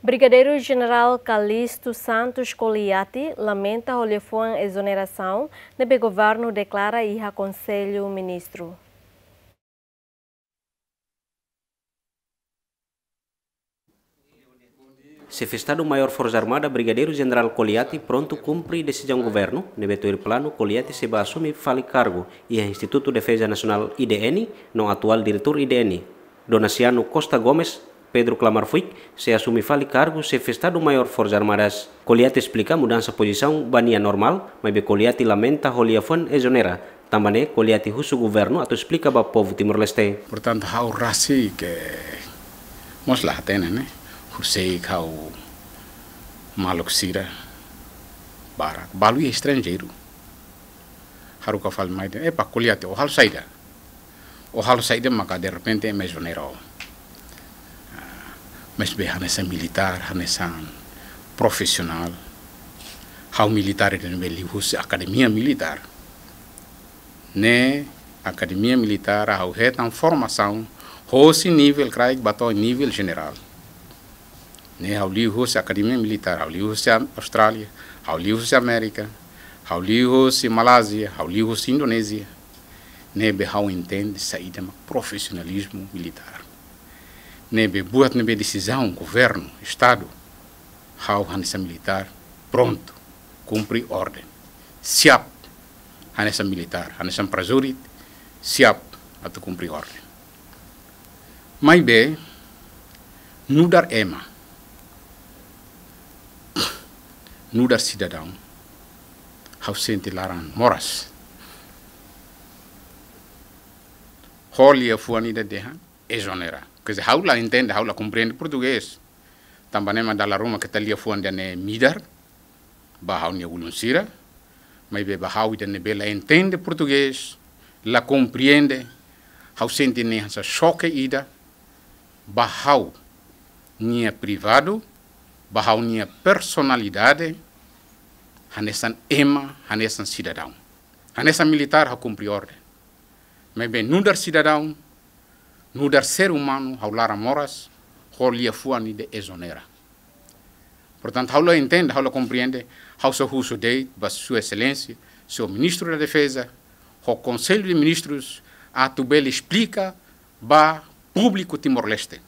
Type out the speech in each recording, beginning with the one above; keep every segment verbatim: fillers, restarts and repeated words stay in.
Brigadeiru Jenerál Calixto Santos Coliati lamenta ho liafuan ezonerasaun ne'ebé governu deklara iha Konsellu Ministru. Xefe Estadu Maiór Forsa Armada, Brigadeiru Jenerál Coliati, prontu kumpre desizaun governu ne'ebé tuir planu Coliati sei bá asume fali kargu iha Institutu Defeza Nasionál, I D N, no atuál diretór I D N, Donaciano Costa Gomes, Pedro Klamar Fuik, sei asume fali kargu Xefe Estadu Maiór Forsa Armadas. Coliati esplika mudansa pozisaun ba nia normál, maibé Coliati lamenta ho liafuan ezonera. Tanba ne'e, Coliati husu governu atu esplika ba povu Timor-Leste. Portantu, ha'u rasik mós la hatene, ne'e? Horiseik ha'u maluk sira barak, balu iha estranjeiru, haruka fali mai dehan: "Epa, Coliati, ó halo saida? Ó halo saida maka derrepente ema ezonera ó?" Ah, maibé hanesan militár, hanesan profisionál, ha'u militár ida ne'ebé liuhusi akademia militár. Ne'e akademia militár ha'u hetan formasaun hosi nivel kraik ba to'o nivel jenerál. Ne'e ha'u liuhusi akademia militár, ha'u liuhusi Am-, Austrália, ha'u liuhusi Amérika, ha'u liuhusi Malázia, ha'u liuhusi Indonézia. Ne'ebé ha'u entende saida mak profisionalizmu militár. Ne'ebé buat ne'ebé desizaun governu, Estadu, ha'u hanesan militár prontu kumpre orden. Siap hanesan militár, hanesan prajurit, siap atu kumpre orden. Maibé, nu'udar ema, nu'udar sidadaun, ha'u sente laran moras ho liafuan ida dehan ezonera. Quer dizer, ha'u la entende, ha'u la komprende portugés. Tanba ne'e mak dala ruma keta liafuan ida-ne'e midar ba ha'u-nia ulun sira, maibé ba ha'u ida ne'ebé la entende portugés, la komprende, ha'u sente ne'e hanesan xoke ida ba ha'u-nia privadu, ba ha'u-nia personalidade, hanesan ema, hanesan sidadaun. Hanesan militár ha'u kumpre orden. Maibé nu'udar sidadaun, nu'udar ser umanu, ha'u laran moras ho liafuan ida ezonera. Portantu, ha'u la entende, ha'u la komprende, ha'u só husu de'it ba Sua Exelénsia, Señór Ministru da Defeza, ho Konsellu de Ministrus, atu bele esplika ba públiku Timor-Leste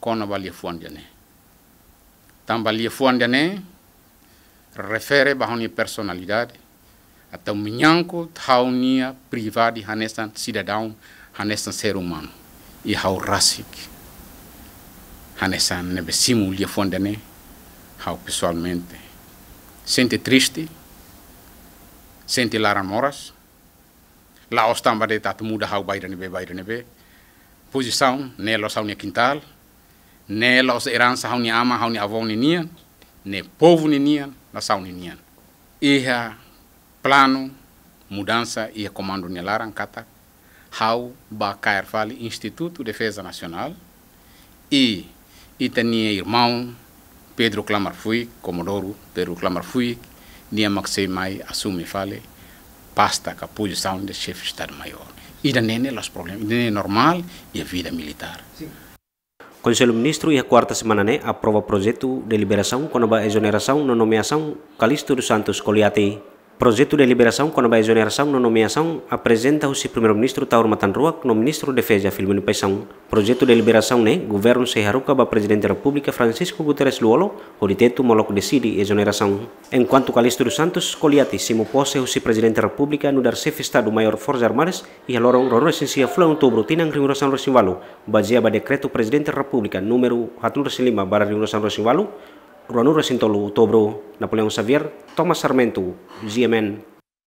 kona-ba liafuan ida-ne'e. Tanba liafuan ida-ne'e refere ba ha'u-nia personalidade, atu menyangkut ha'u-nia privadu hanesan sidadaun, hanesan ser umanu. I ha'u rasik, hanesan ne'ebé simu liafuan ida-ne'e, ha'u pesoalmente sente triste, sente laran moras, la'ós tanba de'it atu muda ha'u ba ida ne'ebé, ba ida ne'ebé. Pozisaun ne'e la'ós ha'u-nia kintál, ne'e la'ós eransa ha'u-nia aman, ha'u-nia avó ninian, ne'e povu ninian, nasaun ninian. Iha planu mudansa iha komandu nia laran katak ha'u bá kaer fali Institutu Defeza Nasionál, i ita-nia irmaun Pedro Klamar Fuik, Komodoru Pedro Klamar Fuik, nia mak sei mai asume fali pasta ka pozisaun de Xefe Estadu Maiór. Ida-ne'e ne'e la'ós problema, ida-ne'e normál iha vida militár. Konsellu Ministru iha kuarta semana ne'e aprova projetu deliberasaun kona-ba ezonerasaun no nomeasaun Calixto dos Santos Coliati. Projetu deliberasaun kona-ba ezonerasaun no nomeasaun aprezenta husi Primeiru-Ministru Taur Matan Ruak no Ministru Defeza Filomeno Paixão. Projetu deliberasaun ne'e governu sei haruka ba Prezidente Repúblika Francisco Guterres Lú-Olo, hodi tetu molok deside ezonerasaun. Enkuantu Calixto dos Santos Coliati simu pose husi Prezidente Repúblika nu'udar Xefe Estadu Maiór Forsas Armadas iha loron ruanulu-resin-sia fulan Outubru tinan rihun rua sanulu-resin-ualu, bazeia ba Dekretu Prezidente Repúblika númeru haatnulu-resin-lima barra rihun rua sanulu-resin-ualu, ruanulu-resin-tolu Outubru. Napoleão Xavier, Thomas Sarmento, G M N.